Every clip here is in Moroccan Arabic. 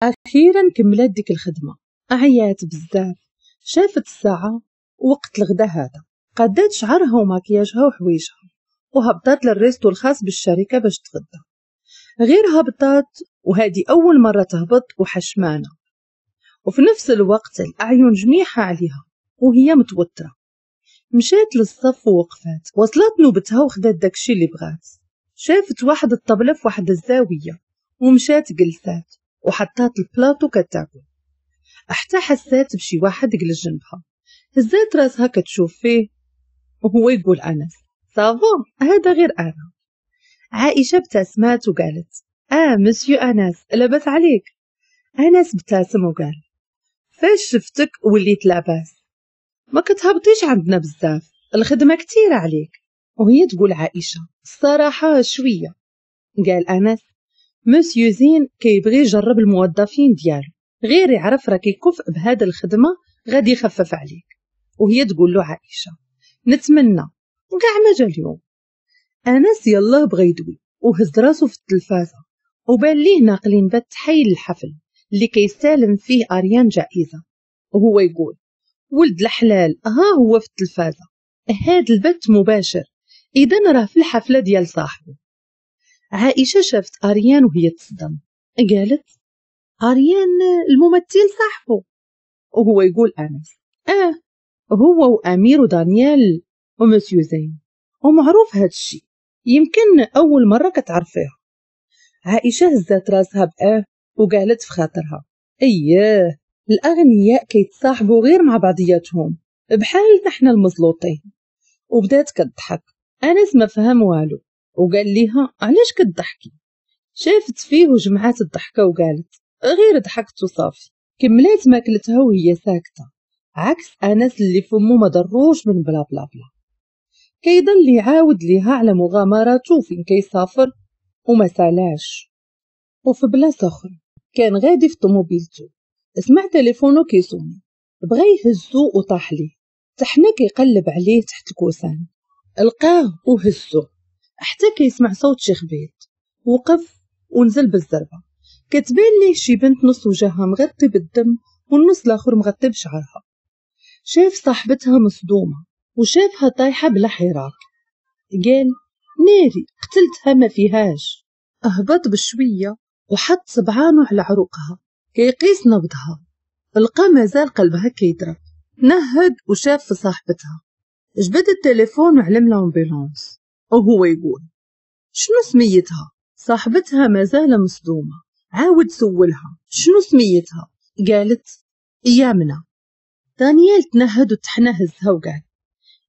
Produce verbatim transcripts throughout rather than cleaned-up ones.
أخيرا كملات ديك الخدمة، عيات بزاف. شافت الساعة وقت الغدا هذا، قدات شعرها وماكياجها وحويجها وهبطات لل resto الخاص بالشركة باش تغدى. غير هبطات، وهذه أول مرة تهبط وحشمانة، وفي نفس الوقت الأعين جميعها عليها وهي متوترة. مشات للصف ووقفات، وصلت نوبتها وخدات داكشي اللي بغات. شافت واحد الطبلة في واحد الزاوية ومشات جلسات وحطات البلاطو كتاكل، حتى حسات بشي واحد جلس جنبها. هزات راسها كتشوف فيه وهو يقول أنس ça va هذا غير أنا. عائشة ابتسمات وقالت آه مسيو أنس لاباس عليك. أنس ابتسم وقال فاش شفتك وليت لاباس، ما كتهبطيش عندنا بزاف، الخدمة كتيرة عليك. وهي تقول عائشة الصراحة شوية. قال أنس مسيو زين كيبغي يجرب الموظفين ديالو، غير يعرف راك كفء بهذا الخدمة غادي يخفف عليك. وهي تقول له عائشة نتمنى كاع ما جا اليوم. أنس يلاه بغى يدوي وهز راسو في التلفازة وبان ليه ناقلين بث حي الحفل اللي كيستلم فيه أريان جائزة، وهو يقول ولد الحلال ها هو في التلفازة، هاد البث مباشر، إذا راه في الحفلة ديال صاحبه. عائشة شافت أريان وهي تصدم، قالت أريان الممثل صاحبه. وهو يقول أنس آه هو وأمير ودانيال ومسيو زين، ومعروف هاد الشي، يمكن أول مرة كتعرفيها. عائشة هزات راسها بآه وقالت في خاطرها اييه الأغنياء كيتصاحبوا غير مع بعضياتهم بحال نحن المزلوطين. وبدات كتضحك. أنس ما فهم والو وقال ليها علاش كتضحكي؟ شافت فيه وجمعات الضحكة وقالت غير ضحكت وصافي. كملات ماكلتها وهي ساكتة، عكس أنس اللي فمو ما ضروش من بلا بلا بلا، كيضل يعاود ليها على مغامراته فين كيسافر وما سالاش. وفي بلاصة أخرى كان غادي في طوموبيلته، سمع تليفونه كيصوني، بغى يهزو وطاح ليه، تحنا كيقلب عليه تحت الكوسان، لقاه وهزو حتى كيسمع صوت شي خبيط. وقف ونزل بالزربة، كتبان ليه شي بنت نص وجهها مغطي بالدم والنص الاخر مغطي بشعرها. شاف صاحبتها مصدومة وشافها طايحة بلا حراك، قال ناري قتلتها ما فيهاش. اهبط بشوية وحط صبعانه على عروقها كيقيس نبضها، لقى مازال قلبها كيضرب. نهد وشاف في صاحبتها، جبد التليفون وعلم l'ambulance وهو يقول شنو سميتها؟ صاحبتها مازال مصدومة، عاود سولها شنو سميتها؟ قالت يامنة. دانيال تنهد وتحنى هزها وقال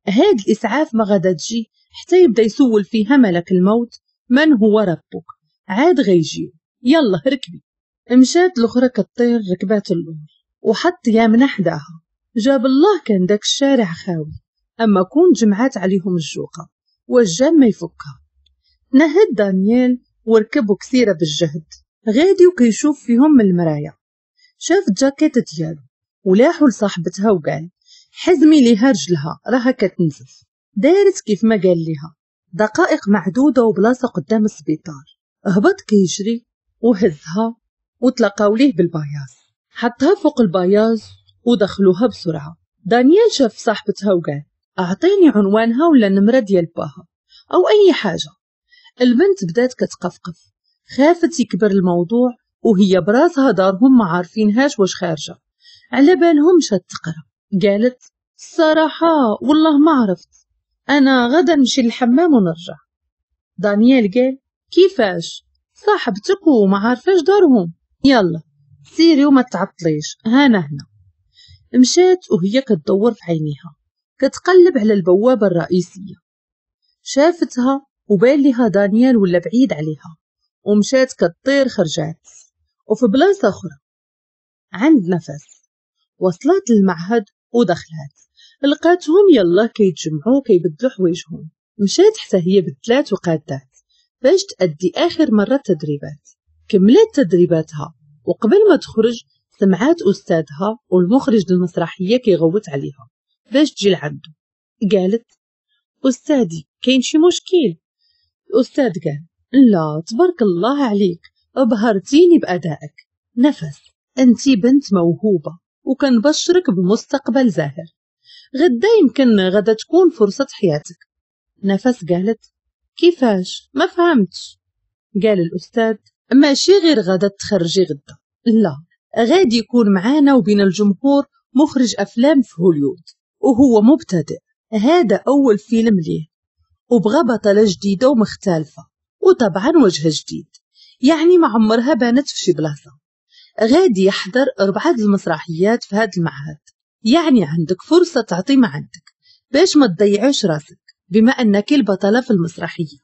هاد الإسعاف ما غادا تجي حتى يبدا يسول فيها ملك الموت من هو ربك، عاد غيجيو، يلا ركبي. مشات الأخرى كطير ركبات اللور وحط يامنة حداها. جاب الله كان داك الشارع خاوي، أما كون جمعات عليهم الجوقة والجام ما يفكها. نهد دانيال وركبوا كثيرة بالجهد، غادي وكيشوف فيهم من المراية. شاف الجاكيت ديالو ولاحو لصاحبتها وقال حزمي ليها رجلها راها كتنزف. دارت كيف ما قال ليها، دقائق معدودة وبلاصة قدام السبيطار. هبط كيجري وهزها وتلقاو ليه بال paillasse، حطها فوق ال paillasse ودخلوها بسرعة. دانيال شاف صاحبتها وقال أعطيني عنوانها ولا النمرة ديال باها أو أي حاجة. البنت بدات كتقفقف، خافت يكبر الموضوع وهي براسها دارهم ما عارفينهاش واش خارجة، على بالهم مشات تقرا. قالت الصراحة والله ما عرفت، أنا غدا نمشي للحمام ونرجع. دانيال قال كيفاش صاحبتك وما عارفاش دارهم؟ يلا سيري وما تعطليش، هانا هنا. مشات وهي كتدور في عينيها كتقلب على البوابة الرئيسية. شافتها وبان لها دانيال ولا بعيد عليها، ومشات كتطير خرجات. وفي بلاصة أخرى عند نفس وصلت للمعهد ودخلات، لقاتهم يلا كيتجمعوا كيبدلوا حوايجهم. مشات حتى هي بدلات وقادات باش تأدي آخر مرة تدريبات. كملت تدريباتها وقبل ما تخرج سمعات أستاذها والمخرج المسرحية كيغوت عليها باش تجي لعنده. قالت أستاذي كاين شي مشكل؟ الأستاذ قال لا تبارك الله عليك أبهرتيني بأدائك، نفس أنتي بنت موهوبة وكنبشرك بمستقبل زاهر، غدا يمكن غدا تكون فرصة حياتك. نفس قالت كيفاش؟ ما فهمتش. قال الأستاذ ماشي غير غدا تخرجي غدا، لا، غادي يكون معانا وبين الجمهور مخرج أفلام في هوليود وهو مبتدئ، هذا أول فيلم ليه، وبغى بطلة جديدة ومختلفة وطبعا وجه جديد، يعني ما عمرها بانت في شي بلاصة. غادي يحضر أربعة المسرحيات في هذا المعهد، يعني عندك فرصة تعطي ما عندك باش ما تضيعيش راسك بما أنك البطلة في المسرحية.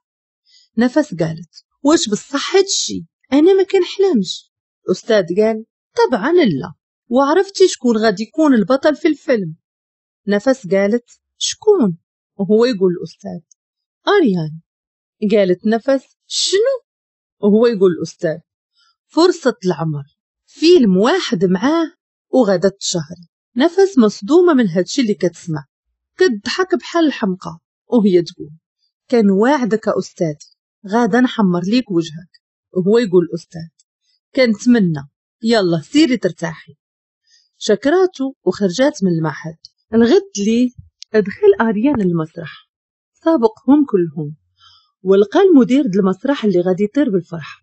نفس قالت واش بصح هادشي؟ أنا ما كنحلمش. الأستاذ قال طبعا لا، وعرفتي شكون غادي يكون البطل في الفيلم؟ نفس قالت شكون؟ وهو يقول الأستاذ أريان. قالت نفس شنو؟ وهو يقول الأستاذ فرصة العمر، فيلم واحد معاه وغدا تشهري. نفس مصدومة من هادشي اللي كتسمع، كتضحك بحال الحمقى وهي تقول كان واعدك أستاذي غادا نحمر ليك وجهك. وهو يقول الأستاذ كنتمنى، يلا سيري ترتاحي. شكراته وخرجات من المعهد. الغد ليه ادخل أريان المسرح، سابقهم كلهم، ولقى المدير المسرح اللي غادي يطير بالفرحة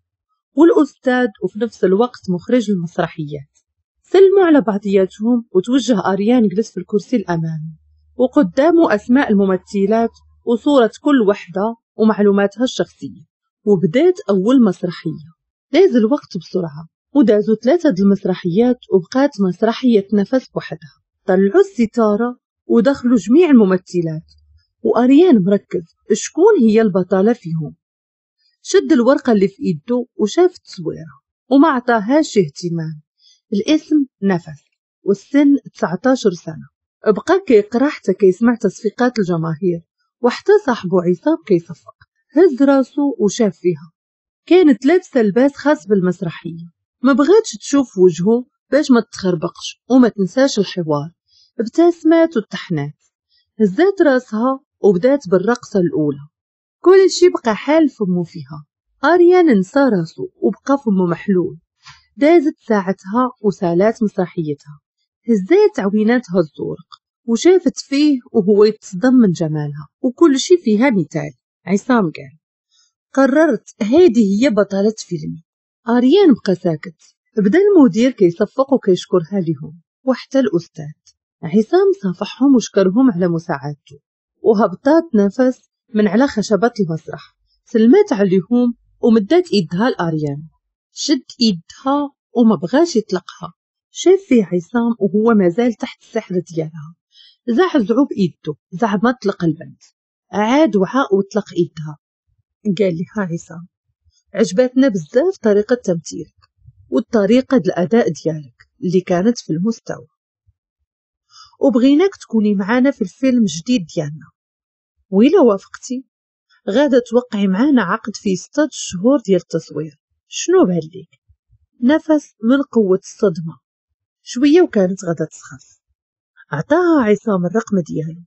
والأستاذ وفي نفس الوقت مخرج المسرحيات. سلموا على بعضياتهم وتوجه أريان جلس في الكرسي الأمامي وقدامه أسماء الممثلات وصورة كل وحدة ومعلوماتها الشخصية، وبدات أول مسرحية. داز الوقت بسرعة ودازوا ثلاثة المسرحيات وبقات مسرحية نفس وحدها. طلعوا الستارة ودخلوا جميع الممثلات وأريان مركز شكون هي البطلة فيهم. شد الورقة اللي في إيده وشاف التصويرة وما عطاهاش اهتمام. الاسم نفس والسن تسعة عشر سنة. بقى كيقرا حتى كيسمع تصفيقات الجماهير وحتى صاحبه عصام كيصفق. هز راسو وشاف فيها، كانت لابسة لباس خاص بالمسرحية، ما بغاتش تشوف وجهه باش ما تخربقش وما تنساش الحوار. ابتسمت وتحنات، هزات راسها وبدات بالرقصة الأولى. كل شي بقى حال فمو فيها. أريان نسى راسو وبقى فمو محلول. دازت ساعتها وسالات مسرحيتها. هزات عويناتها الزورق وشافت فيه وهو يتصدم من جمالها وكل شي فيها مثال. عصام قال قررت هذه هي بطلة فيلمي. أريان بقى ساكت. بدا المدير كيصفق وكيشكرها لهم وحتى الأستاذ. عصام صافحهم وشكرهم على مساعدته، وهبطات نفس من على خشبة المسرح. سلمات عليهم ومدات ايدها لأريان. شد ايدها وما بغاش يطلقها. شاف فيه عصام وهو مازال تحت السحر ديالها. زعزعو بايده زعما طلق البنت. عاد وعى وطلق ايدها. قال لها عصام عجبتنا بزاف طريقة تمثيلك والطريقة الأداء ديالك اللي كانت في المستوى، وبغيناك تكوني معانا في الفيلم الجديد ديالنا، وإلا وافقتي غادا توقعي معانا عقد في ستة شهور ديال التصوير. شنو بان ليك؟ نفس من قوة الصدمة شوية وكانت غادا تسخف. عطاها عصام الرقم ديالو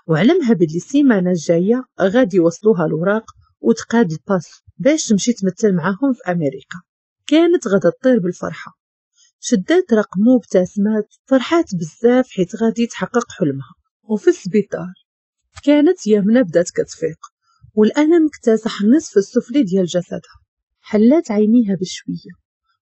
وعلمها باللي السيمانة الجاية غادي يوصلوها الوراق وتقاد ال passe باش تمشي تمثل معاهم في أمريكا. كانت غادا تطير بالفرحة. شدات رقمو وابتسمات، فرحات بزاف حيت غادي تحقق حلمها. وفي السبيطار كانت يمنى بدات كتفيق والألم اكتسح النصف السفلي ديال جسدها. حلات عينيها بشوية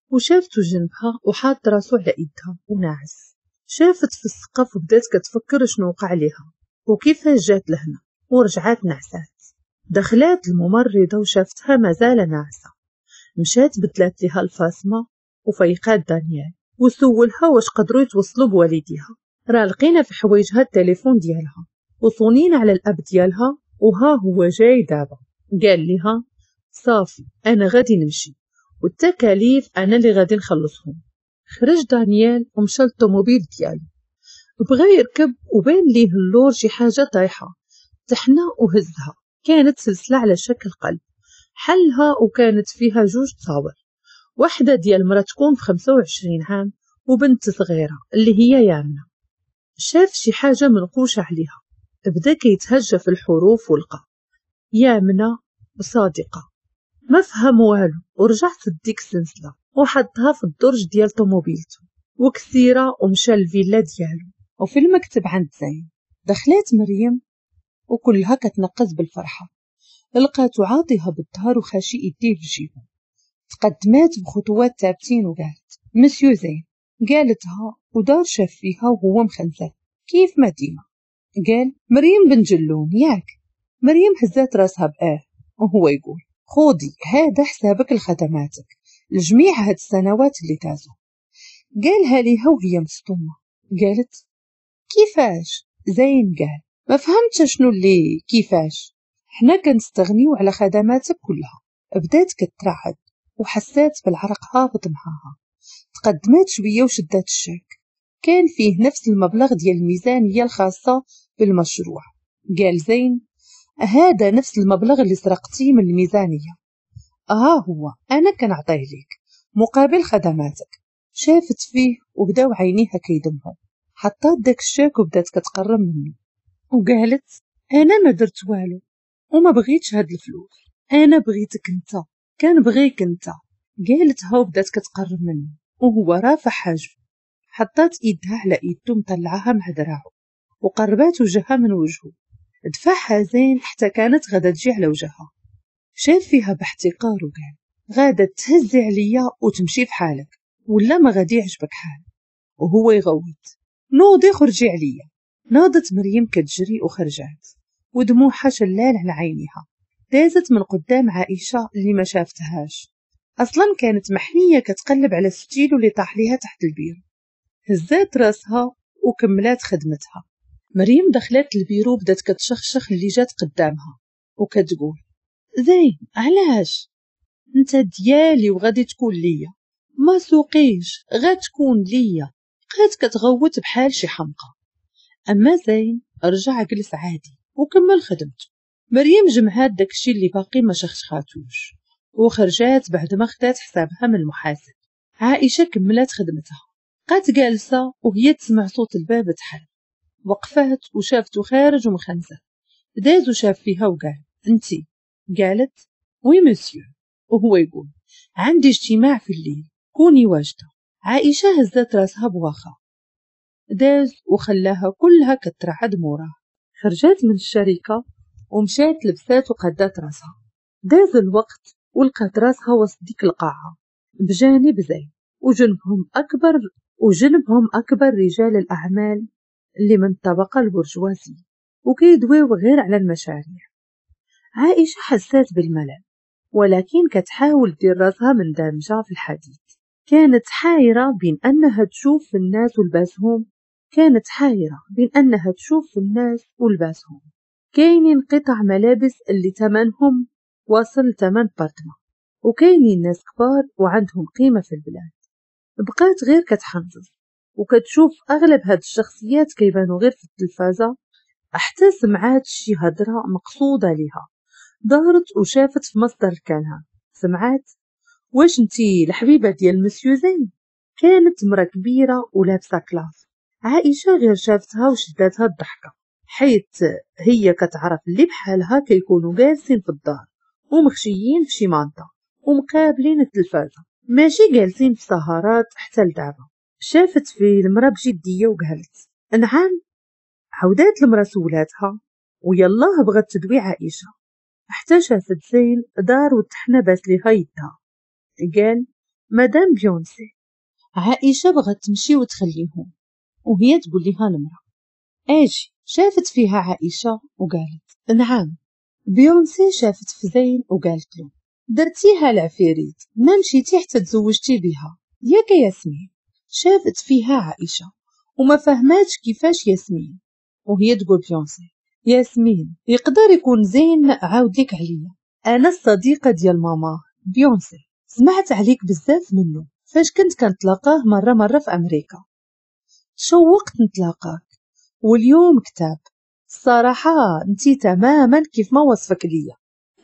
وشافتو جنبها وحاط راسو على ايدها وناعس. شافت في السقف وبدات كتفكر شنو وقع ليها وكيفاش جات لهنا، ورجعات نعسات. دخلات الممرضة وشافتها مازال ناعسة. مشات بدلات لها الفاصمة وفيقات دانيال وسولها واش قدروا يتوصلوا بوالديها. راه لقينا في حوايجها التليفون ديالها وصونينا على الاب ديالها وها هو جاي دابا. قال لها صافي انا غادي نمشي والتكاليف انا اللي غادي نخلصهم. خرج دانيال ومشى للطوموبيل ديالو، بغى يركب وبان ليه اللور شي حاجه طايحه. تحنى وهزها، كانت سلسله على شكل قلب. حلها وكانت فيها جوج تصاور، واحدة ديال مرا تكون في خمسة وعشرين عام وبنت صغيرة اللي هي يامنة. شاف شي حاجة منقوشة عليها، بدا كيتهجى في الحروف ولقى يامنة وصادقة. ما فهم والو ورجع سد ديك السلسلة. وحطها في الدرج ديال طوموبيلته وكثيره ومشى للفيلا ديالو. وفي المكتب عند زين دخلات مريم وكلها كتنقز بالفرحه، لقاتو عاطيها بالظهر وخاشي ايديه في جيبو. تقدمات بخطوات ثابتين وقالت مسيو زين. قالتها ودار شاف فيها وهو مخنزر كيف ما ديما. قال مريم بن جلون ياك؟ مريم هزات راسها بآه وهو يقول خودي هذا حسابك لخدماتك لجميع هاد السنوات اللي تازو. قالها ليها وهي مصدومة. قالت كيفاش؟ زين قال ما فهمتش شنو اللي كيفاش، حنا كنستغنيو على خدماتك كلها. بدات كترعد وحسات بالعرق هابط معاها. تقدمات شوية وشدات الشاك، كان فيه نفس المبلغ ديال الميزانية الخاصة بالمشروع. قال زين هذا نفس المبلغ اللي سرقتيه من الميزانية، ها هو انا كنعطيه ليك مقابل خدماتك. شافت فيه وبداو عينيها كيدمعوا. حطات داك الشاك وبدات كتقرب منه وقالت انا ما درت والو وما بغيتش هاد الفلوس، انا بغيتك انت، كان بغيك انت. قالتها وبدات كتقرب منه وهو رافع حاجبه. حطات ايدها على ايدو مطلعها مع دراعو وقربات وجهها من وجهه. دفعها زين حتى كانت غادا تجي على وجهها. شاف فيها باحتقار وقال غادا تهزي عليا وتمشي في حالك ولا ما غادي يعجبك حال. وهو يغوت نوضي خرجي عليا. ناضت مريم كتجري وخرجات ودموعها شلال على عينيها. دازت من قدام عائشة اللي ما شافتهاش اصلا، كانت محنية كتقلب على الستيلو اللي طاح ليها تحت البيرو. هزات راسها وكملات خدمتها. مريم دخلت البيرو بدات كتشخشخ اللي جات قدامها وكتقول زين علاش انت ديالي وغادي تكون ليا، ما سوقيش غتكون ليا. بقات كتغوت بحال شي حمقى. اما زين رجع جلس عادي وكمل خدمته. مريم جمعات داكشي اللي باقي ما شخشخاتوش وخرجات بعد ما خدات حسابها من المحاسب. عائشة كملات خدمتها، بقات جالسة وهي تسمع صوت الباب تحل. وقفات وشافته خارج ومخنزر. داز وشاف فيها وقال انتي؟ قالت oui monsieur. وهو يقول عندي اجتماع في الليل كوني واجدة. عائشة هزت راسها بواخا. داز وخلاها كلها كترعد موراه. خرجات من الشركة ومشات لبسات وقدات راسها. داز الوقت ولقات راسها وسط ديك القاعة بجانب زين وجنبهم أكبر وجنبهم أكبر رجال الأعمال اللي من الطبقة البرجوازية وكيدويو غير على المشاريع. عائشة حسات بالملل ولكن كتحاول دير راسها من دامجة في الحديث. كانت حايرة بين أنها تشوف في الناس ولباسهم، كانت حايرة بين أنها تشوف في الناس ولباسهم. كاينين قطع ملابس اللي ثمنهم واصل ثمن بارتما، وكاينين ناس كبار وعندهم قيمة في البلاد. بقات غير كتحنزز وكتشوف أغلب هاد الشخصيات كيبانو غير في التلفازة، حتى سمعات شي هضرة مقصودة ليها. دارت وشافت في مصدر الكلام. سمعات واش انتي الحبيبة ديال مسيو زين؟ كانت مرة كبيرة ولابسة classe. عائشة غير شافتها وشداتها الضحكة، حيت هي كتعرف اللي بحالها كيكونوا جالسين في الدار ومخشيين في شي مانطا ومقابلين التلفازة، ماشي جالسين في سهرات حتى لدابا. شافت في المرأة بجدية وقالت نعم. عودات المرأة سولاتها ويلاه بغات تدوي عائشة حتى شافت زين دار وتحنى باس ليها يدها. قال مدام بيونسي. عائشة بغات تمشي وتخليهم وهي تقول لها المرأة اجي. شافت فيها عائشة وقالت نعم. بيونسي شافت في زين وقالت له درتيها العفيريت، ما مشيتي حتى تزوجتي بها ياك ياسمين؟ شافت فيها عائشة وما فهماتش كيفاش ياسمين، وهي تقول بيونسي ياسمين يقدر يكون زين عاود لك عليا، انا الصديقة ديال ماما بيونسي، سمعت عليك بزاف منه فاش كنت كنتلاقاه مرة مرة في امريكا، تشوقت نتلاقاك واليوم كتاب. الصراحة انتي تماما كيف ما وصفك ليا،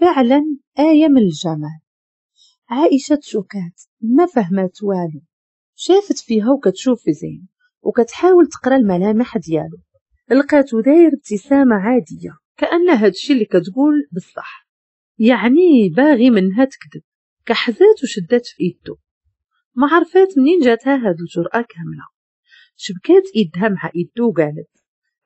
فعلا آية من الجمال. عائشة تشوكات ما فهمات والو، شافت فيها وكتشوف في زين وكتحاول تقرا الملامح ديالو، لقاتو داير ابتسامة عادية كأن هادشي اللي كتقول بصح، يعني باغي منها تكذب. كحزات وشدات في ايدو ما عرفات منين جاتها هاد الجرأة كاملة. شبكات ايدها مع ايدو وقالت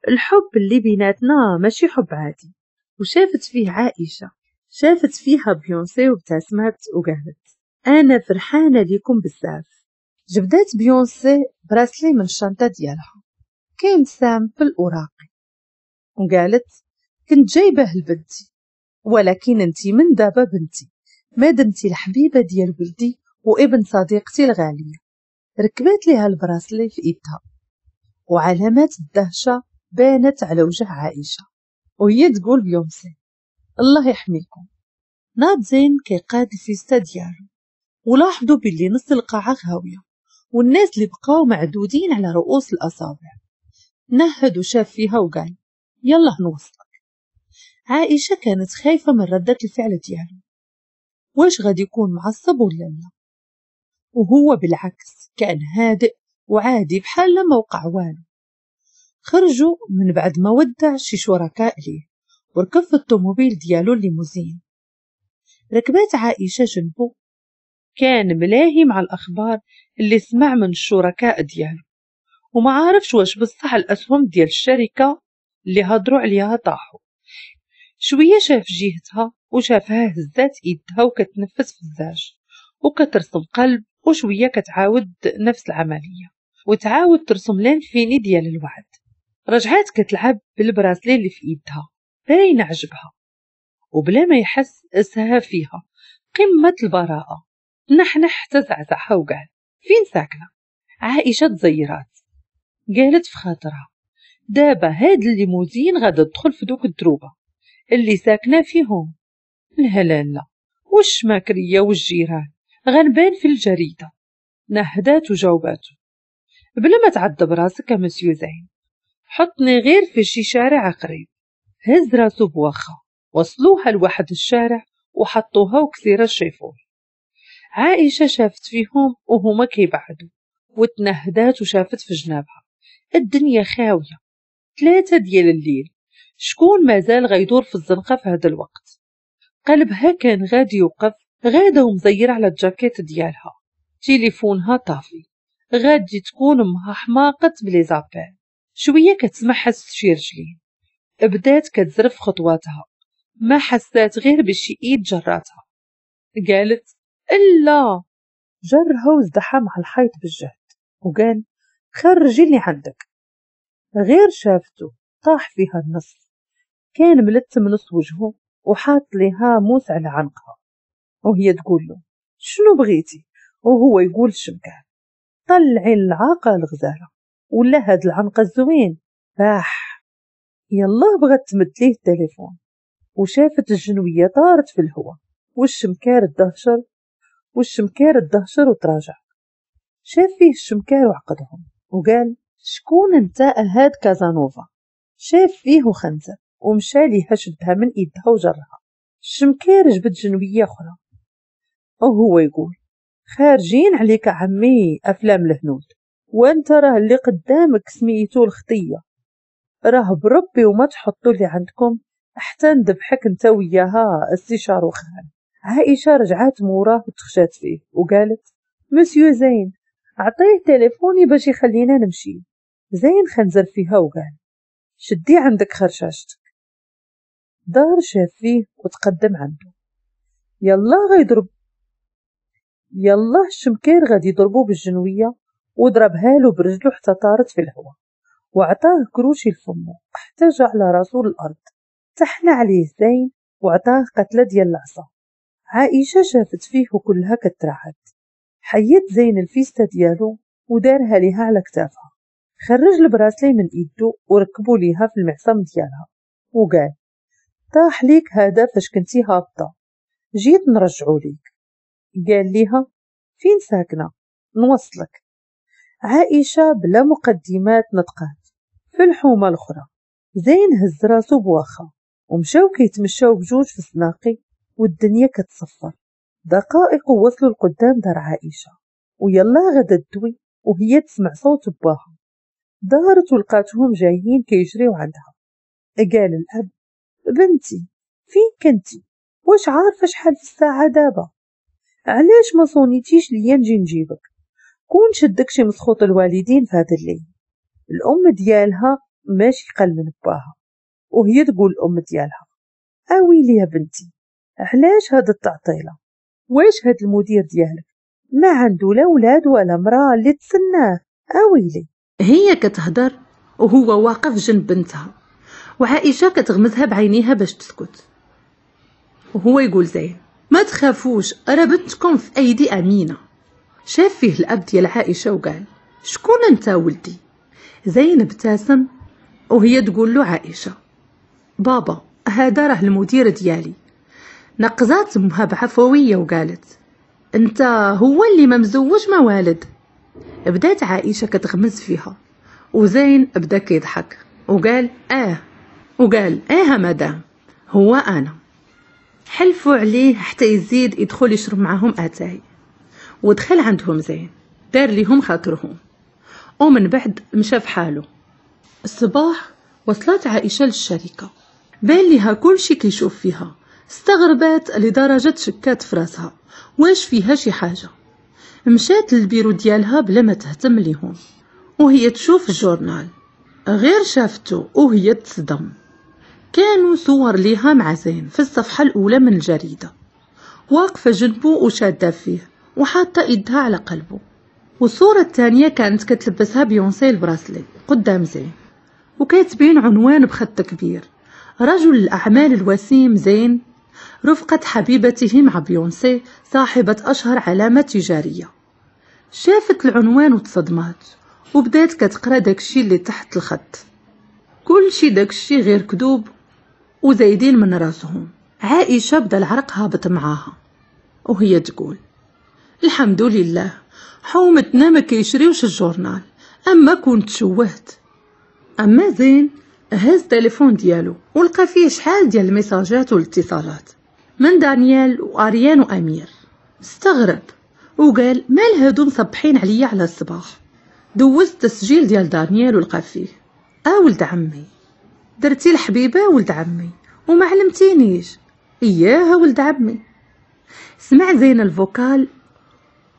الحب اللي بيناتنا ماشي حب عادي. وشافت فيه عائشة، شافت فيها بيونسي وابتسمت وقالت انا فرحانة ليكم بزاف. جبدات بيونسي bracelet من الشنطة ديالها، كان simple وراقي، وقالت كنت جايبه لبنتي، ولكن انتي من دابا بنتي، ما دمتي الحبيبة ديال ولدي وابن صديقتي الغالية. ركبات ليها ال bracelet في ايدها، وعلامات الدهشة بانت على وجه عائشة وهي تقول بيونسي الله يحميكم. ناض زين كيقاد الفيستا ديالو، ولاحظوا باللي نص القاعة غاوية والناس اللي بقاو معدودين على رؤوس الأصابع. نهد وشاف فيها وقال يلا نوصلك. عائشة كانت خايفة من ردة الفعل ديالو، واش غادي يكون معصب ولا لا؟ وهو بالعكس كان هادئ وعادي بحال ما وقع والو. خرجوا من بعد ما ودع شي شركاء ليه وركب في الطوموبيل ديالو الليموزين. ركبات عائشة جنبه، كان ملاهي مع الأخبار اللي سمع من الشركاء ديالو، وما عارفش واش بصح الأسهم ديال الشركة اللي هضروا عليها طاحوا. شوية شاف جهتها وشافها هزات ايدها وكتنفس في الزاج وكترسم قلب، وشوية كتعاود نفس العملية وتعاود ترسم l'infini ديال الوعد. رجعات كتلعب بال bracelet اللي في ايدها باين عجبها، وبلا ما يحس اسها فيها قمة البراءة. نحنح حتى زعزعها وقال فين ساكنة؟ عائشة تزيرات، قالت في خاطرها دابا هاد الليموزين غادا تدخل في دوك الدروبة اللي ساكنة فيهم. لا لا لا، والشماكرية والجيران غنبان في الجريدة. نهدات وجاوباتو بلا ما تعذب راسك مسيو زين، حطني غير في شي شارع قريب. هز راسو بواخا، وصلوها لواحد الشارع وحطوها وكثيرة الشيفور. عائشة شافت فيهم وهما كيبعدوا وتنهدات وشافت في جنابها الدنيا خاوية، ثلاثة ديال الليل، شكون مازال غيدور في الزنقة في هذا الوقت؟ قلبها كان غادي يوقف، غاده ومزيرة على الجاكيت ديالها، تليفونها طافي، غادي تكون امها حماقت ب les appels. شوية كتسمع حس شي رجلين، بدات كتزرف خطواتها، ما حسات غير بشي ايد جراتها. قالت الا، جرها وزدحها مع الحيط بالجهد وقال خرجي اللي عندك. غير شافته طاح فيها النص، كان ملتم نص وجهه وحاط لها موس على عنقها، وهي تقول له شنو بغيتي؟ وهو يقول الشمكان طلعي العاقة الغزالة ولا هاد العنق الزوين. باح يلا بغت تمد ليه التليفون، وشافت الجنوية طارت في الهواء والشمكار الدهشر والشمكار الدهشر وتراجع. شاف فيه الشمكار وعقدهم وقال شكون انت هاد كازانوفا؟ شاف فيه وخنزر ومشى ليها شدها من ايدها وجرها. الشمكار جبد جنوية اخرى وهو يقول خارجين عليك عمي افلام الهنود، وانت راه اللي قدامك سميتو الخطية، راه بربي وما تحطوا اللي عندكم حتى نذبحك انت وياها السي شاروخان. عائشة رجعات موراه وتخشات فيه وقالت مسيو زين عطية تليفوني باش يخلينا نمشي. زين خنزر فيها وقال شدي عندك خرشاشتك. دار شاف فيه وتقدم عنده، يلا غيضرب يلا الشمكير غادي يضربو بالجنوية، وضربها له برجله حتى طارت في الهواء، وعطاه كروشي لفمو حتى جا على راسو الارض. تحنى عليه زين وعطاه قتله ديال العصا. عائشة شافت فيه وكلها كترعد. حيد زين الفيستا ديالو ودارها ليها على كتافها، خرج ال bracelet من ايدو وركبو ليها في المعصم ديالها وقال طاح ليك هذا فاش كنتي هابطة، جيت نرجعو ليك. قال ليها فين ساكنة نوصلك. عائشة بلا مقدمات نطقات في الحومه الاخرى. زين هز راسو بواخا ومشاو كيتمشاو بجوج في السناقي والدنيا كتصفر. دقائق وصلوا لقدام دار عائشة، ويلا غدا تدوي وهي تسمع صوت باها. دارت ولقاتهم جايين كيجريو عندها. قال الاب بنتي فين كنتي؟ واش عارفه شحال في الساعة دابا؟ علاش ما صونيتيش ليا نجي نجيبك؟ كون شدك شي مسخوط الوالدين في هذا الليل. الام ديالها ماشي قل من باها، وهي تقول الام ديالها اويلي يا بنتي علاش هاد التعطيله؟ واش هاد المدير ديالك ما عنده لا ولاد ولا مراة اللي تسناه؟ اويلي. هي كتهدر وهو واقف جنب بنتها، وعائشة كتغمزها بعينيها باش تسكت، وهو يقول زين ما تخافوش راه بنتكم في ايدي امينه. شاف فيه الاب ديال عائشة وقال شكون انت ولدي؟ زين ابتسم وهي تقول له عائشة بابا هذا راه المدير ديالي. نقزات امها بعفويه وقالت انت هو اللي ما مزوج ما والد. بدات عائشة كتغمز فيها، وزين بدا كيضحك وقال اه وقال اه مدام هو انا. حلفوا عليه حتى يزيد يدخل يشرب معاهم اتاي، ودخل عندهم زين دار ليهم خاطرهم، ومن بعد مشى في حاله. الصباح وصلت عائشة للشركة، بان ليها كلشي كيشوف فيها، استغربات لدرجة شكات في راسها واش فيها شي حاجة. مشات للبيرو ديالها بلا ما تهتم ليهم، وهي تشوف ال journal، غير شافته وهي تصدم. كانوا صور ليها مع زين في الصفحة الأولى من الجريدة، واقفة جنبه وشادة فيه وحاطة إيدها على قلبه. والصورة الثانية كانت كتلبسها بيونسي ال bracelet قدام زين، وكاتبين عنوان بخط كبير: رجل الأعمال الوسيم زين رفقة حبيبته مع بيونسي صاحبة أشهر علامة تجارية. شافت العنوان وتصدمات، وبدات كتقرا داكشي اللي تحت الخط، كلشي داكشي غير كذوب وزايدين من راسهم. عائشة بدا العرق هابط معاها وهي تقول الحمد لله حومتنا ما كيشريوش ال journal، اما كنت شوهت. اما زين هز التليفون ديالو ولقى فيه شحال ديال الميساجات والاتصالات من دانيال واريان وامير. استغرب وقال مال هادو مصبحين عليا على الصباح. دوز التسجيل ديال دانيال ولقى فيه اه ولد عمي درتي الحبيبة ولد عمي وما علمتينيش، اياها ولد عمي. سمع زين ال vocal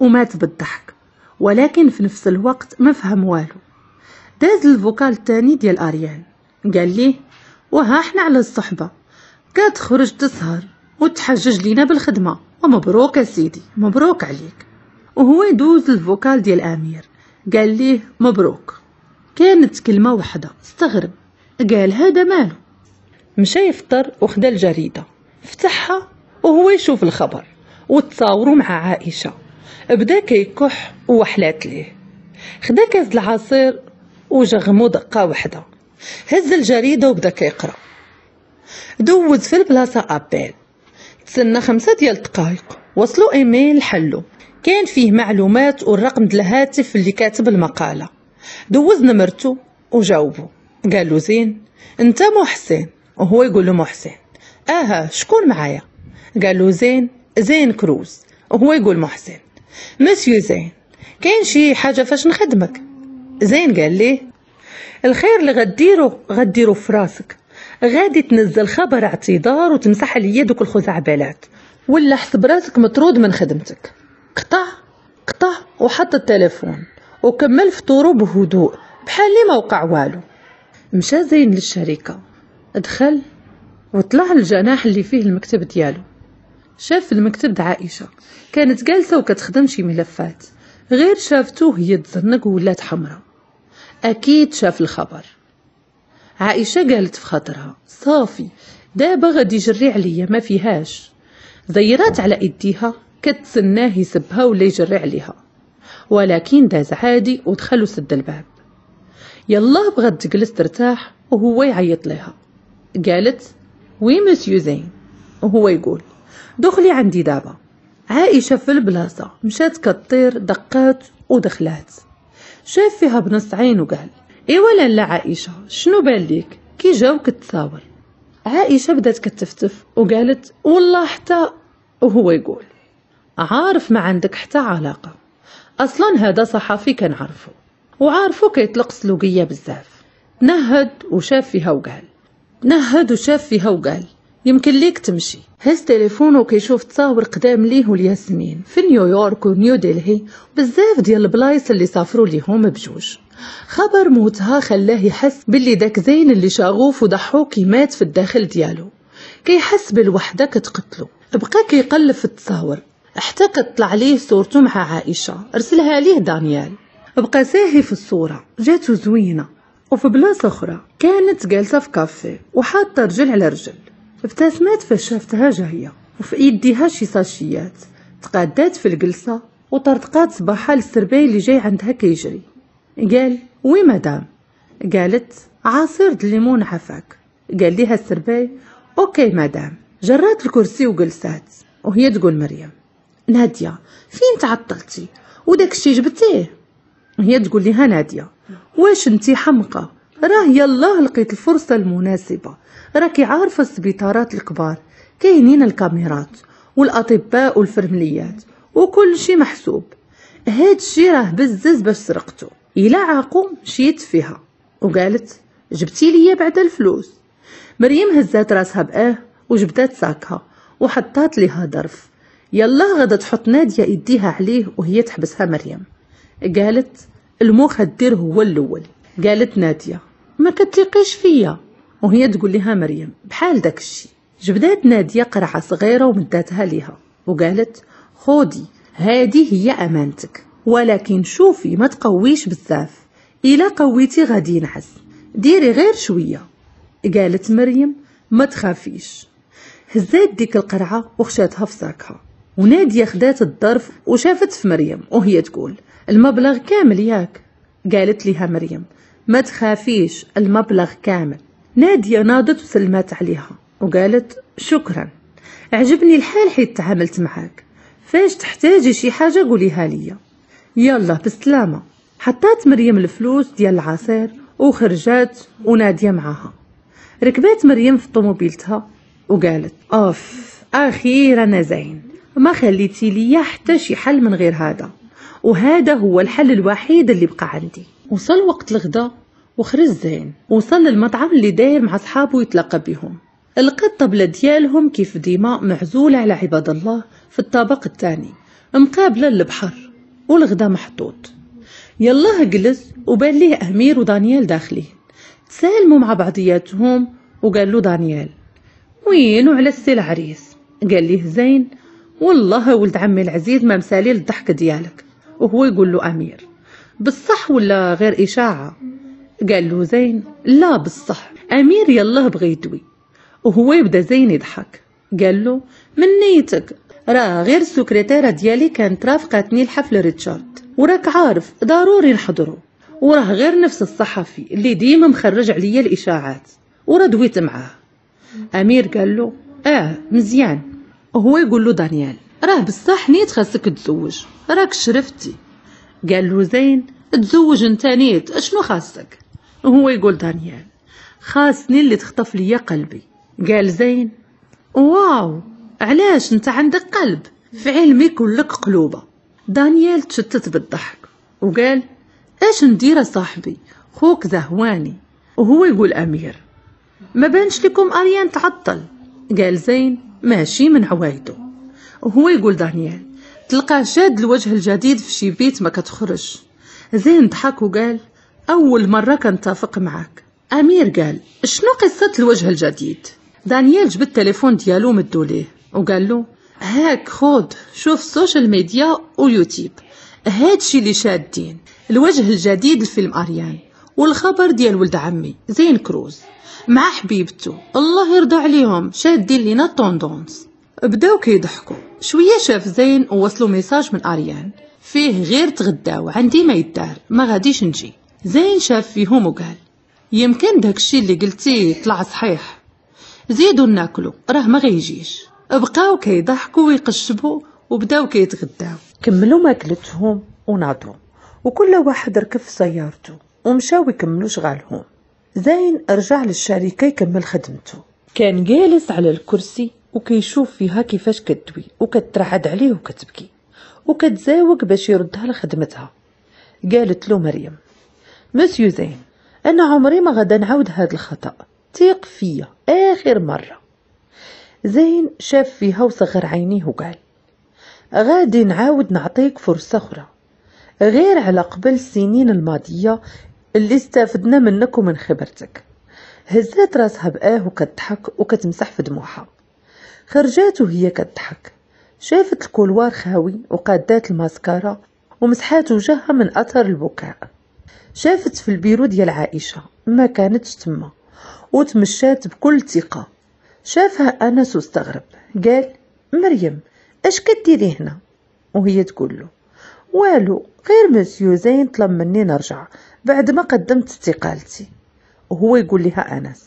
ومات بالضحك، ولكن في نفس الوقت ما فهم والو. داز ال vocal الثاني ديال اريان، قال ليه وها احنا على الصحبة كتخرج تسهر وتحجج لينا بالخدمة، ومبروك اسيدي مبروك عليك. وهو يدوز ال vocal ديال امير، قال ليه مبروك. كانت كلمة واحدة، استغرب قال هذا ماله. مشى يفطر وخدا الجريدة فتحها وهو يشوف الخبر وتصاوروا مع عائشة، بدا كيكح وحلات ليه. خدا كاس العصير وجغمو دقه واحدة، هز الجريدة وبدا كيقرا. دوز في البلاصة appel، تسنى خمسة ديال الدقائق، وصلوا ايميل حلو كان فيه معلومات والرقم ديال الهاتف اللي كاتب المقالة. دوز نمرته وجاوبو، قال له زين انت محسن؟ وهو يقول له محسن اها شكون معايا؟ قال له زين زين كروز. وهو يقول محسن مسيو زين كاين شي حاجة فاش نخدمك؟ زين قال ليه الخير اللي غديرو غديرو في راسك، غادي تنزل خبر اعتذار وتمسح عليا دوك الخزعبلات، ولا حسب راسك مطرود من خدمتك. قطع قطع وحط التليفون وكمل فطورو بهدوء بحال اللي ما وقع والو. مشى زين للشركة، دخل وطلع للجناح اللي فيه المكتب ديالو. شاف المكتب د عائشة كانت جالسة وكتخدم شي ملفات، غير شافتو هي تزنق ولات حمراء، اكيد شاف الخبر. عائشة قالت في خاطرها صافي دابا غادي يجري عليا ما فيهاش. زيرات على ايديها كتسناه يسبها ولا يجري عليها، ولكن داز عادي ودخل وسد الباب. يلا بغات تجلس ترتاح وهو يعيط لها. قالت oui monsieur زين، وهو يقول دخلي عندي دابا. عائشة في البلاصة مشات كطير، دقات ودخلات. شاف فيها بنص عين وقال ايوا لالا عائشة شنو بان ليك كي جاوك التصاور؟ عائشة بدات كتفتف وقالت والله حتى، وهو يقول عارف ما عندك حتى علاقة، اصلا هذا صحفي كنعرفه وعارفه كيطلق سلوقيه بزاف. نهد وشاف فيها وقال نهد وشاف فيها وقال يمكن ليك تمشي. هز تليفونه وكيشوف تصاور قدام ليه والياسمين في نيويورك ونيو دلهي، بزاف ديال البلايص اللي سافروا ليهم بجوج. خبر موتها خلاه يحس باللي داك زين اللي شغوف وضحوك مات في الداخل ديالو، كيحس بالوحدة كتقتلو. بقى كيقلب في التصاور حتى كتطلع ليه صورته مع عائشة ارسلها ليه دانيال. بقى ساهي في الصورة، جاتو زوينة. وفي بلاصة اخرى كانت جالسة في كافيه وحاطه رجل على رجل، ابتسمت فاش شافتها جاية وفي ايديها شي ساشيات. تقادات في الجلسة وطرطقات صباحها للسرباي اللي جاي عندها كيجري. قال oui madame. قالت عصير الليمون عفاك. قال ليها السرباي OK madame. جرات الكرسي وجلسات وهي تقول مريم ناديه فين تعطلتي وداك الشي جبتيه؟ هي تقول لها ناديه واش انتي حمقى، راه يلاه لقيت الفرصة المناسبة، راكي عارفه السبيطارات الكبار كاينين الكاميرات والاطباء والفرمليات وكل شيء محسوب، هاد الشي راه بزز باش سرقته، الا عاقو مشيت فيها. وقالت جبتي ليا بعد الفلوس. مريم هزات راسها باه وجبدات ساكها وحطات ليها ظرف. يلا غدا تحط ناديه ايديها عليه وهي تحبسها مريم. قالت المخدر هو الاول. قالت ناديه ما كتلقيش فيا، وهي تقول لها مريم بحال داك الشيء. جبدات ناديه قرعه صغيرة ومداتها ليها وقالت خودي هذه هي امانتك، ولكن شوفي ما تقويش بزاف، الا قويتي غادي ينعس، ديري غير شوية. قالت مريم ما تخافيش. هزات ديك القرعة وخشاتها في ساكها، وناديه خدات الظرف وشافت في مريم وهي تقول المبلغ كامل ياك؟ قالت لها مريم ما تخافيش المبلغ كامل. ناديه ناضت وسلمات عليها وقالت شكرا، عجبني الحال حيت تعاملت معاك، فاش تحتاجي شي حاجة قوليها ليا، يلا بالسلامة. حطات مريم الفلوس ديال العصير وخرجات وناديه معاها. ركبات مريم في طوموبيلتها وقالت اوف اخيرا زين، ما خليتي ليا حتى شي حل من غير هذا، وهذا هو الحل الوحيد اللي بقى عندي. وصل وقت الغداء وخرج زين، وصل للمطعم اللي داير مع صحابه يتلاقى بهم. لقى الطبلة ديالهم كيف ديما معزولة على عباد الله في الطابق الثاني مقابله للبحر، والغدا محطوط. يلاه جلس وبان ليه امير ودانيال داخلين، تسالموا مع بعضياتهم وقال له دانيال وينو على السي العريس؟ قال ليه زين والله ولد عمي العزيز ما مسالي للضحك ديالك. وهو يقول له امير بالصح ولا غير اشاعة؟ قال له زين لا بالصح. امير يلاه بغى يدوي وهو يبدا زين يضحك. قال له من نيتك، راه غير السكرتيره ديالي كانت رافقتني لحفل ريتشارد وراك عارف ضروري نحضره، وراه غير نفس الصحفي اللي ديما مخرج عليا الاشاعات وراه دويت معاه. امير قال له اه مزيان. وهو يقول له دانيال راه بصح نيت خاصك تزوج، راك شرفتي. قال له زين تزوج انت نيت اشنو خاصك؟ وهو يقول دانيال خاصني اللي تخطف ليا قلبي. قال زين واو علاش انت عندك قلب؟ في علمي كلك قلوبه. دانيال تشتت بالضحك وقال اش ندير صاحبي خوك زهواني. وهو يقول امير ما بانش لكم اريان تعطل؟ قال زين ماشي من عوايده. وهو يقول دانيال تلقاه شاد الوجه الجديد في شي بيت ما كتخرج. زين ضحك وقال اول مرة كنتفق معاك. امير قال شنو قصة الوجه الجديد؟ دانيال جبد التليفون ديالو مدو ليه وقال له هاك خود شوف ال social media ويوتيوب، هادشي اللي شادين الوجه الجديد لفيلم اريان والخبر ديال ولد عمي زين كروز مع حبيبته الله يرضى عليهم شادين لينا tendance. بداو كيضحكوا شوية. شاف زين ووصلوا message من اريان فيه غير تغداو عندي ما يدار ما غاديش نجي. زين شاف فيهم وقال يمكن داكشي اللي قلتي طلع صحيح، زيدوا ناكلو راه ما غيجيش. بقاو كيضحكوا ويقشبوا وبداو كيتغداو. كملوا ماكلتهم وناضوا وكل واحد ركب في سيارته ومشاو يكملوا شغالهم. زين رجع للشركة يكمل خدمته. كان جالس على الكرسي وكيشوف فيها كيفاش كدوي وكترعد عليه وكتبكي وكتزاوق باش يردها لخدمتها. قالت له مريم مسيو زين انا عمري ما غادا نعاود هذا الخطأ، ثق فيا اخر مرة. زين شاف فيها وصغر عينيه وقال غادي نعاود نعطيك فرصة أخرى غير على قبل السنين الماضية اللي استفدنا منك ومن خبرتك. هزات راسها بآه وكتضحك وكتمسح في دموعها. خرجات وهي كتضحك، شافت ال couloir خاوي وقادات الماسكارا ومسحات وجهها من اثر البكاء. شافت في البيرو ديال عائشة ما كانتش تما وتمشات بكل ثقة. شافها انس واستغرب، قال مريم اش كديري هنا؟ وهي تقول له والو، غير مسيو زين طلب مني نرجع بعد ما قدمت استقالتي. وهو يقول لها انس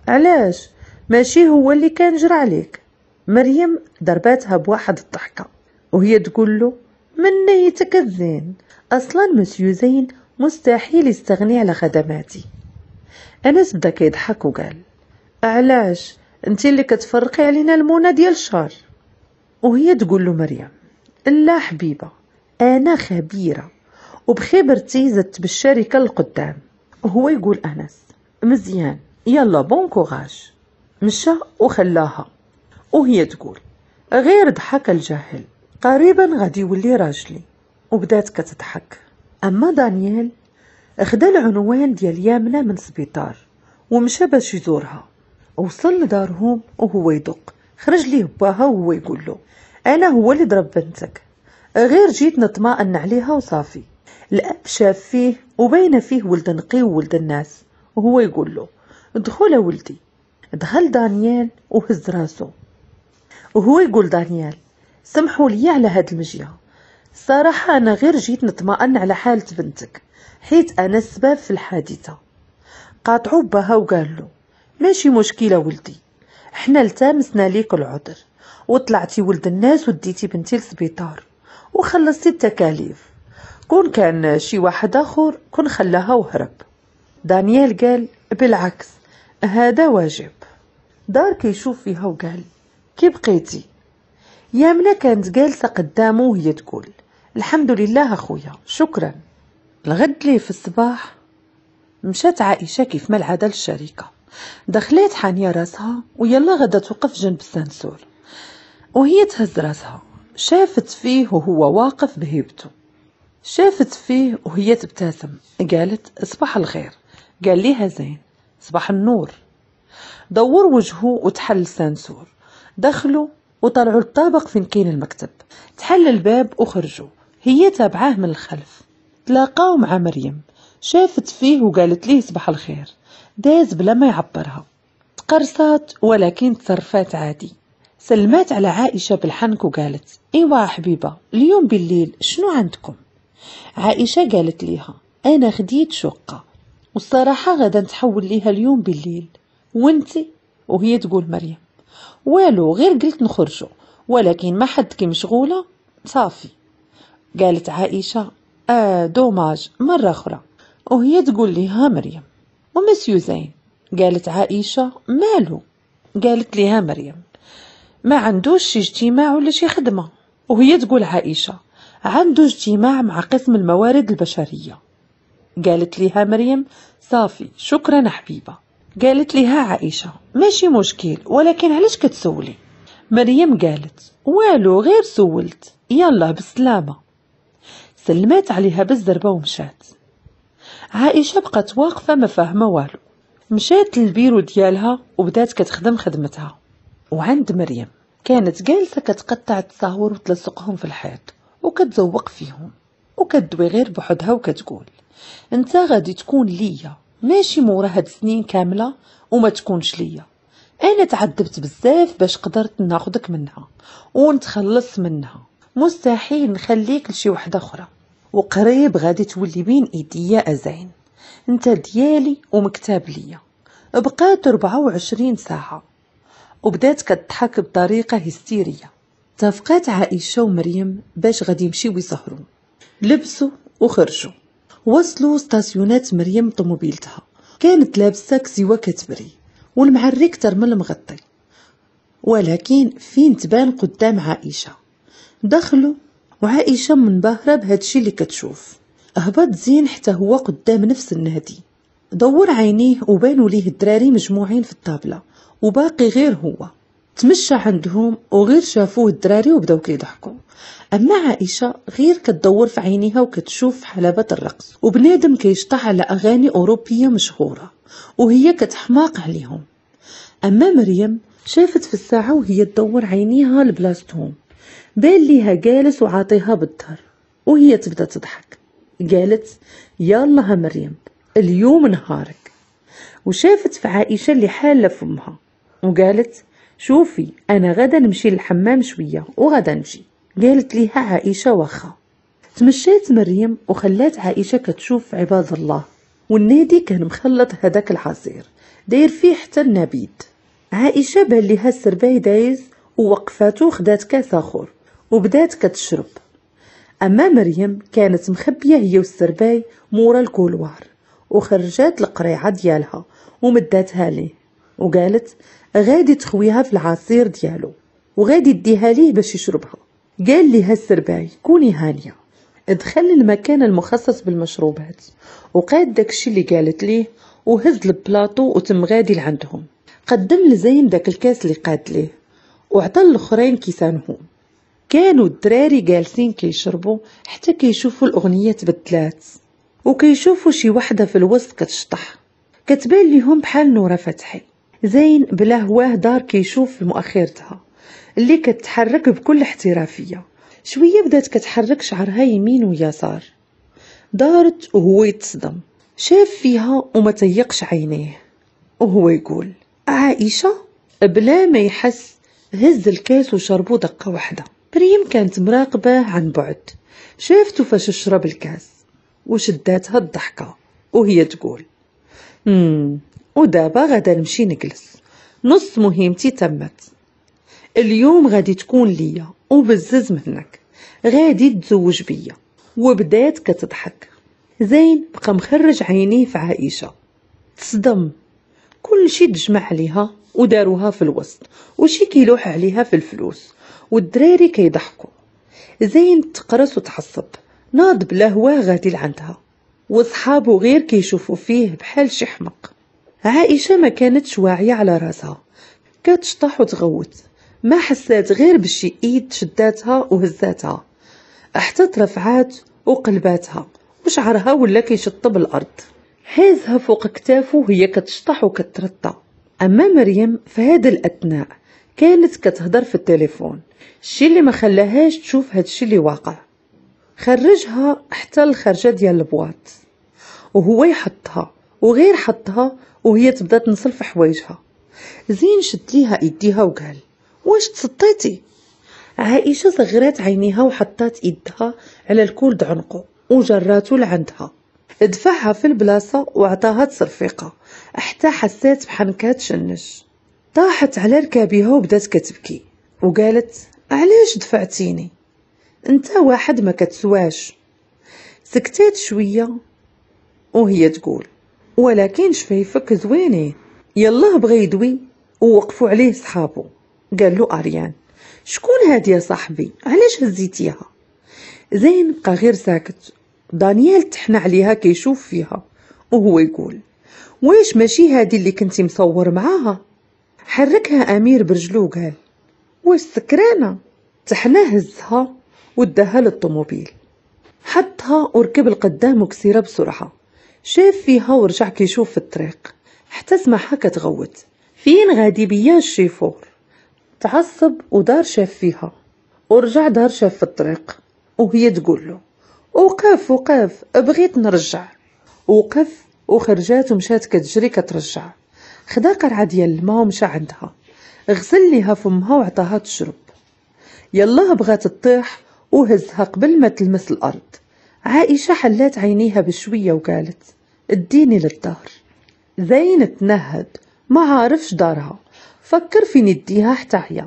علاش؟ ماشي هو اللي كان جرى عليك؟ مريم ضرباتها بواحد الضحكة وهي تقول له من نيتك الزين، اصلا مسيو زين مستحيل يستغني على خدماتي. انس بدا كيضحك وقال علاش انت اللي كتفرقي علينا المونه ديال الشهر؟ وهي تقول له مريم لا حبيبه، انا خبيرة وبخبرتي زدت بالشركة للقدام. وهو يقول انس مزيان، يلا bon courage. مشى وخلاها وهي تقول غير ضحك الجاهل، قريبا غادي يولي راجلي. وبدات كتضحك. اما دانيال خدا العنوان ديال يامنه من سبيطار ومشى باش يزورها. وصل لدارهم وهو يدق، خرج ليه باها وهو يقول له انا هو اللي ضرب بنتك، غير جيت نطمئن عليها وصافي. الاب شاف فيه وبين فيه ولد نقي وولد الناس، وهو يقول له ادخل ولدي. دخل دانيال وهز راسو وهو يقول دانيال سمحوا لي على هاد المجيه، صراحة أنا غير جيت نطمئن على حالة بنتك حيت أنا السبب في الحادثة. قاطعو باها وقال له ماشي مشكلة ولدي، حنا التمسنا ليك العذر وطلعتي ولد الناس وديتي بنتي للسبيطار وخلصتي التكاليف، كون كان شي واحد آخر كون خلاها وهرب. دانيال قال بالعكس هذا واجب. دار كيشوف فيها وقال كي بقيتي؟ يامنة كانت جالسة قدامه وهي تقول الحمد لله اخويا شكرا. الغد ليه في الصباح مشات عائشة كيف ما العادة للشركة. دخلت حانية راسها ويلا غدا توقف جنب ال ascenseur وهي تهز راسها، شافت فيه وهو واقف بهيبته، شافت فيه وهي تبتسم، قالت صباح الخير. قال ليها زين صباح النور. دور وجهه وتحل ال ascenseur، دخلوا وطلعوا للطابق فين كاين المكتب. تحل الباب وخرجوا، هي تابعاه من الخلف. تلاقاو مع مريم، شافت فيه وقالت ليه صباح الخير. داز بلا ما يعبرها، تقرصات ولكن تصرفات عادي. سلمات على عائشة بالحنك وقالت ايوا حبيبة اليوم بالليل شنو عندكم؟ عائشة قالت ليها انا خديت شقة والصراحة غدا نتحول ليها اليوم بالليل، وانتي؟ وهي تقول مريم والو غير قلت نخرجوا ولكن ما حد كي مشغولة صافي. قالت عائشة اه dommage مرة أخرى. وهي تقول لها مريم ومسيو زين؟ قالت عائشة مالو؟ قالت لها مريم ما عندوش شي اجتماع ولا شي خدمة. وهي تقول عائشة عنده اجتماع مع قسم الموارد البشرية. قالت لها مريم صافي شكرا حبيبة. قالت لها عائشة ماشي مشكل ولكن علاش كتسولي؟ مريم قالت والو غير سولت، يلا بالسلامة. سلمات عليها بالزربة ومشات. عائشة بقت واقفة ما فاهمة والو، مشات للبيرو ديالها وبدات كتخدم خدمتها. وعند مريم كانت جالسة كتقطع التصاور وتلصقهم في الحيط وكتزوق فيهم وكتدوي غير بوحدها وكتقول انت غادي تكون ليا ماشي مورا هاد السنين كاملة وما تكونش ليا، انا تعذبت بزاف باش قدرت ناخدك منها ونتخلص منها، مستحيل نخليك لشي وحده اخرى، وقريب غادي تولي بين ايديا ازين، انت ديالي ومكتاب ليا. بقات أربعة وعشرين ساعة وبدات كتضحك بطريقة هستيريه. اتفقات عائشة ومريم باش غادي يمشيو يسهروا، لبسوا وخرجوا. وصلوا ستاسيونات مريم طوموبيلتها، كانت لابسه كسيوه كتبري والمعري كتر من المغطي، ولكن فين تبان قدام عائشة. دخلوا وعائشة منبهره بهادشي اللي كتشوف. هبط زين حتى هو قدام نفس النادي، دور عينيه وبانوا ليه الدراري مجموعين في الطابله وباقي غير هو. تمشى عندهم وغير شافوه الدراري وبداو كيضحكوا. اما عائشة غير كتدور في عينيها وكتشوف في حلبة الرقص وبنادم كيشطح على اغاني اوروبية مشهورة وهي كتحماق عليهم. اما مريم شافت في الساعة وهي تدور عينيها لبلاصتهم، بان ليها جالس وعاطيها بالظهر وهي تبدا تضحك. قالت يلا مريم اليوم نهارك. وشافت في عائشة اللي حاله فمها وقالت شوفي انا غدا نمشي للحمام شوية وغدا نجي. قالت ليها عائشة واخا. تمشات مريم وخلات عائشة كتشوف عباد الله، والنادي كان مخلط هذاك العصير داير فيه حتى النبيد. عائشة بان ليها السرباي دايز ووقفاتو وخدات كاس اخر وبدات كتشرب. اما مريم كانت مخبيه هي والسرباي مورا ال couloir وخرجات القريعه ديالها ومداتها ليه وقالت غادي تخويها في العصير ديالو وغادي ديها ليه باش يشربها. قال ليها السرباي كوني هانيه. دخل المكان المخصص بالمشروبات وقاد داكشي اللي قالت ليه وهز البلاطو وتم غادي لعندهم. قدم لزين داك الكاس اللي قاد ليه وعطى الاخرين كيسانهم. كانوا الدراري جالسين كيشربوا حتى كيشوفوا الاغنية تبدلات وكيشوفوا شي وحده في الوسط كتشطح، كتبان ليهم بحال نوره فتحي. زين بلا هواه دار كيشوف في مؤخرتها اللي كتحرك بكل احترافية. شوية بدات كتحرك شعرها يمين ويسار، دارت وهو يتصدم. شاف فيها وما تيقش عينيه وهو يقول عائشة. بلا ما يحس هز الكاس وشربو دقه واحدة. مريم كانت مراقبة عن بعد، شافته فاش شرب الكاس وشداتها الضحكة وهي تقول امم ودابا غادا نمشي نجلس، نص مهمتي تمت، اليوم غادي تكون ليا وبزز منك غادي تزوج بيا. وبدات كتضحك. زين بقى مخرج عينيه في عائشة، تصدم. كل شي تجمع عليها وداروها في الوسط وشي كيلوح عليها في الفلوس والدراري كيضحكوا. زين تقرص وتعصب، ناض بلا هواه غادي لعندها وصحابه غير كيشوفوا فيه بحال شي حمق. عائشة ما كانتش واعية على راسها، كتشطح وتغوت، ما حسات غير بشي ايد شداتها وهزاتها حتى ترفعات وقلباتها وشعرها ولا كيشطب الارض. هازها فوق كتافه وهي كتشطح وكترطى. اما مريم في هذا الاثناء كانت كتهضر في التليفون، الشي اللي ما خلاهاش تشوف هادشي اللي واقع. خرجها حتى الخرجه ديال ال boîte وهو يحطها، وغير حطها وهي تبدا تنصل في حوايجها. زين شد ليها ايديها وقال واش تسطيتي؟ عائشة صغرات عينيها وحطات ايدها على ال col د عنقه وجراتو لعندها. دفعها في البلاصة وعطاها تصرفيقه حتى حسات بحنكها تشنج. طاحت على ركابيها وبدات كتبكي وقالت علاش دفعتيني؟ انت واحد ما كتسواش. سكتات شوية وهي تقول ولكن شفايفك زوينين. يلاه بغى يدوي ووقفوا عليه صحابو. قال له اريان شكون هادي يا صاحبي؟ علاش هزيتيها؟ زين بقى غير ساكت. دانيال تحنى عليها كيشوف فيها وهو يقول واش ماشي هادي اللي كنتي مصور معاها؟ حركها امير برجلو وقال واش سكرانه؟ تحنى هزها وداها للطوموبيل، حطها وركب القدام وكسيره بسرعة. شاف فيها ورجع كيشوف في الطريق حتى سمعها كتغوت فين غادي بيا الشيفور؟ تعصب ودار شاف فيها ورجع دار شاف في الطريق وهي تقول له وقف وقف بغيت نرجع. وقف وخرجات ومشات كتجري كترجع. خدا قرعه ديال الماء ومشى عندها، غسل ليها فمها وعطاها تشرب. يلاه بغات تطيح وهزها قبل ما تلمس الارض. عائشة حلات عينيها بشوية وقالت اديني للدار. زين تنهد ما عارفش دارها، فكر فين يديها حتى هي،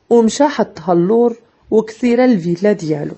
ومشى حطها اللور وكسيره الفيلا ديالو.